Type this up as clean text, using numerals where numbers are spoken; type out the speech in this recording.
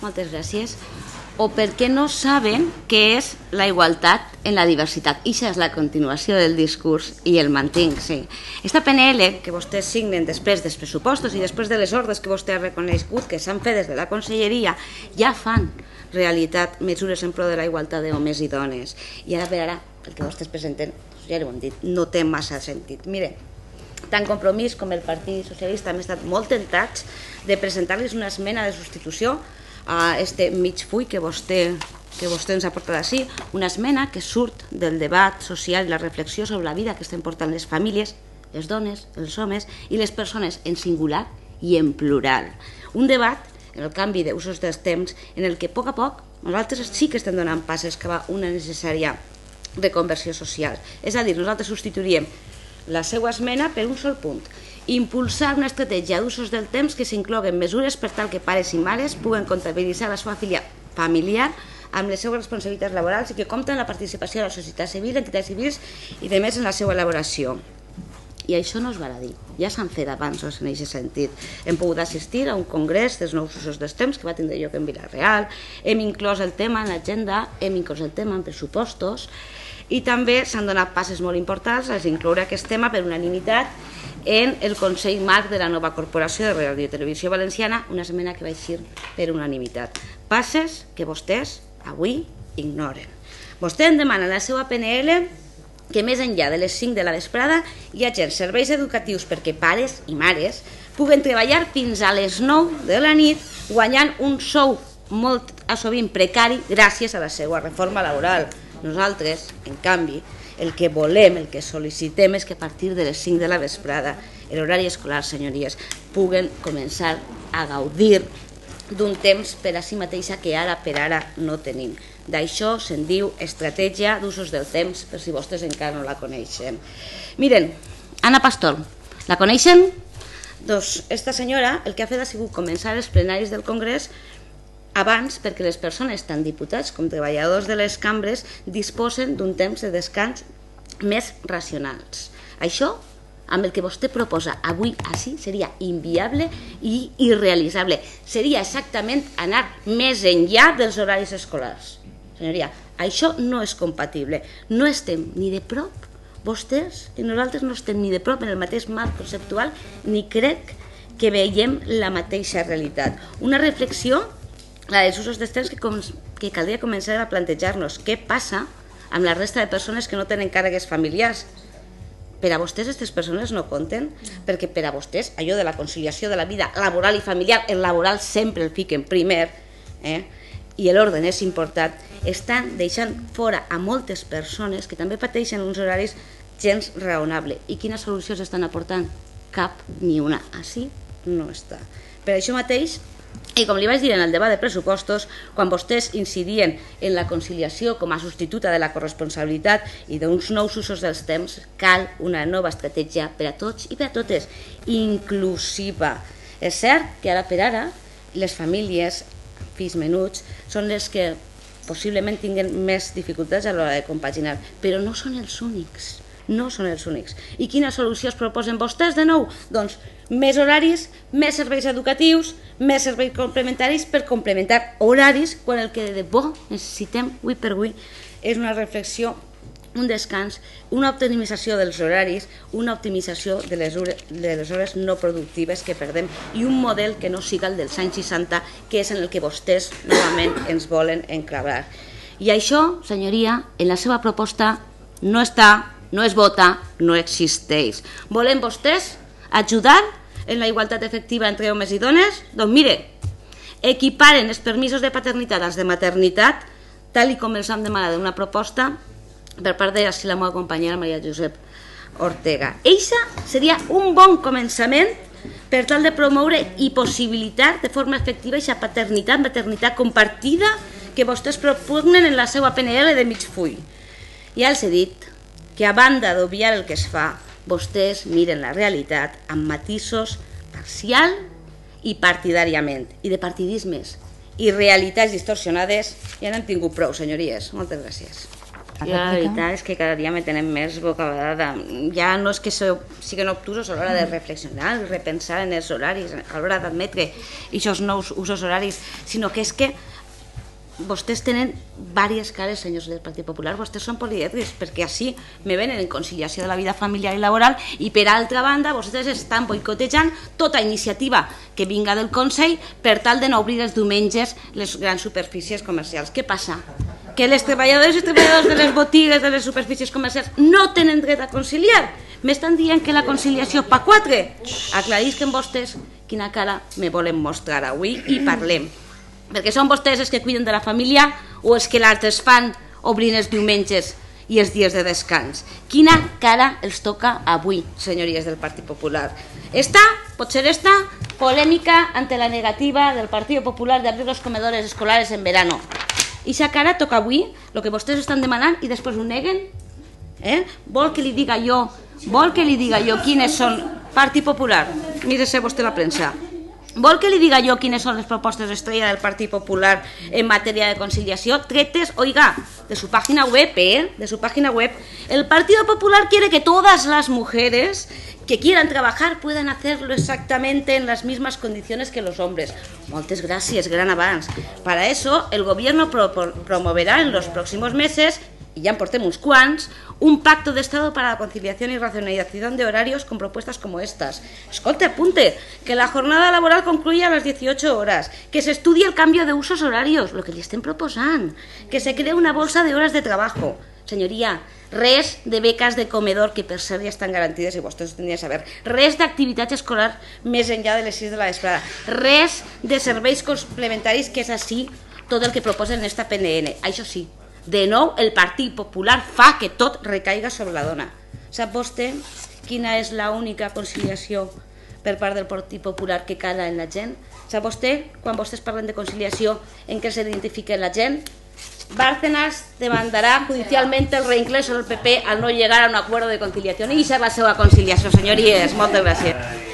moltes gràcies, o perquè no saben què és la igualtat en la diversitat. Ixa és la continuació del discurs i el mantinc, sí. Esta PNL que vostès signen després dels pressupostos i després de les ordres que vostè ha reconegut que s'han fet des de la conselleria, ja fan realitat mesures en pro de la igualtat d'homes i dones. I ara per ara, el que vostès presenten, ja ho hem dit, no té massa sentit. Mire, tant Compromís com el Partit Socialista hem estat molt tentats de presentar-los una esmena de substitució a este mig full que vostè ens ha portat així, una esmena que surt del debat social i la reflexió sobre la vida que estan portant les famílies, les dones, els homes i les persones en singular i en plural. Un debat en el canvi d'usos dels temps en el que a poc nosaltres sí que estem donant passes cap a una necessària reconversió social. És a dir, nosaltres substituiríem la seva esmena per un sol punt: impulsar una estratègia d'usos del temps que s'incloguen mesures per tal que pares i mares puguen comptabilitzar la seva filla familiar amb les seves responsabilitats laborals i que compten amb la participació de la societat civil, entitats civils i de més en la seva elaboració. I això no es va dir, ja s'han fet avanços en aquest sentit. Hem pogut assistir a un congrés dels nous usos dels temps que va tindre lloc en Vila-real, hem inclòs el tema en l'agenda, hem inclòs el tema en pressupostos i també s'han donat passes molt importants a incloure aquest tema per unanimitat en el Consell Marc de la nova Corporació de Ràdio i Televisió Valenciana, una esmena que va eixir per unanimitat. Passes que vostès avui ignoren. Vostè em demana en la seva PNL que més enllà de les 5 de la vesprada hi hagi serveis educatius perquè pares i mares puguen treballar fins a les 9 de la nit guanyant un sou molt sovint precari gràcies a la seva reforma laboral. Nosaltres, en canvi, el que volem, el que sol·licitem és que a partir de les 5 de la vesprada, l'horari escolar, senyories, puguen començar a gaudir d'un temps per a si mateixa que ara per ara no tenim. D'això se'n diu estratègia d'usos del temps, per si vostès encara no la coneixen. Miren, Ana Pastor, la coneixen? Doncs esta senyora el que ha fet ha sigut començar els plenaris del Congrés abans perquè les persones, tant diputats com treballadors de les cambres, disposen d'un temps de descans més racionals. Això, amb el que vostè proposa avui així, seria inviable i irrealitzable. Seria exactament anar més enllà dels horaris escolars. Senyoria, això no és compatible. No estem ni de prop, vostès i nosaltres no estem ni de prop en el mateix marc conceptual, ni crec que veiem la mateixa realitat. Una reflexió, la dels usos dels temps, que caldria començar a plantejar-nos què passa amb la resta de persones que no tenen càrregues familiars. Per a vostès aquestes persones no compten, perquè per a vostès allò de la conciliació de la vida laboral i familiar, el laboral sempre el fiquen primer, i l'ordre és important, estan deixant fora a moltes persones que també pateixen uns horaris gens raonables. I quines solucions estan aportant? Cap ni una. Així no està. Per això mateix, i com li vaig dir en el debat de pressupostos, quan vostès incidien en la conciliació com a substituta de la corresponsabilitat i d'uns nous usos dels temps, cal una nova estratègia per a tots i per a totes, inclusiva. És cert que ara per ara les famílies, fills menuts, són les que possiblement tinguen més dificultats a l'hora de compaginar, però no són els únics. No són els únics. I quina solució es proposen vostès de nou? Doncs més horaris, més serveis educatius, més serveis complementaris per complementar horaris quan el que de bo necessitem avui per avui és una reflexió, un descans, una optimització dels horaris, una optimització de les hores no productives que perdem i un model que no siga el dels anys 60, que és en el que vostès novament ens volen enclavar. I això, senyoria, en la seva proposta no està, no es vota, no existeix. Volen vostès ajudar en la igualtat efectiva entre homes i dones? Doncs mire, equiparen els permisos de paternitat als de maternitat, tal com els hem demanat una proposta per part de la meva companyera Maria Josep Ortega. Eixa seria un bon començament per tal de promoure i possibilitar de forma efectiva aquesta paternitat, maternitat compartida que vostès propugnen en la seva PNL de mig full. Ja els he dit que a banda d'obviar el que es fa, vostès miren la realitat amb matisos parcial i partidàriament, i de partidismes i realitats distorsionades ja n'hem tingut prou, senyories. Moltes gràcies. Jo la veritat és que cada dia me tenen més bocabadada. Ja no és que siguin obtusos a l'hora de reflexionar i repensar en els horaris, a l'hora d'admetre aquests nous usos horaris, sinó que és que vostès tenen diverses cares, senyors del Partit Popular, vostès són polièdrics, perquè així me venen en conciliació de la vida familiar i laboral i per altra banda vostès estan boicotejant tota iniciativa que vinga del Consell per tal de no obrir els diumenges les grans superfícies comercials. Què passa? Que les treballadores i treballadors de les botigues, de les superfícies comercials, no tenen dret a conciliar. M'estan dient que la conciliació pa 4. Aclarisquen vostès quina cara me volen mostrar avui i parlem. Perquè són vostès els que cuiden de la família o els que l'altres fan obrint els diumenges i els dies de descans. Quina cara els toca avui, senyories del Partit Popular? Pot ser esta polèmica ante la negativa del Partit Popular de abrir los comedores escolares en verano. I esa cara toca avui, el que vostès estan demanant i després ho neguen? Vol que li diga jo quines són... Partit Popular, mire-se vostè la premsa. Vol que li diga jo quines són les propostes estrella del Partit Popular en matèria de conciliació? Tretes, oiga, de su página web, de su página web. El Partido Popular quiere que todas las mujeres que quieran trabajar puedan hacerlo exactamente en las mismas condiciones que los hombres. Moltes gràcies, gran avanç. Para eso, el gobierno promoverá en los próximos meses, y ya portem uns quants, un pacto de Estado para la conciliación y racionalización de horarios con propuestas como estas. Escolte, apunte, que la jornada laboral concluya a las 18 horas, que se estudie el cambio de usos horarios, lo que li estem proposant, que se cree una bolsa de horas de trabajo. Senyoria, res de beques de comedor, que per cert ja estan garantides i vostès ho tindrien a saber, res d'activitat escolar més enllà de les 6 de la vesprada, res de serveis complementaris, que és així tot el que proposen en esta PNL. Això sí, de nou el Partit Popular fa que tot recaiga sobre la dona. Sap vostè quina és l'única conciliació per part del Partit Popular que cala en la gent? Sap vostè, quan vostès parlen de conciliació, en què s'identifica la gent? Bárcenas demandará judicialmente el reingreso del PP al no llegar a un acuerdo de conciliación. Y esa es la seva conciliació, senyories. Moltes gràcies.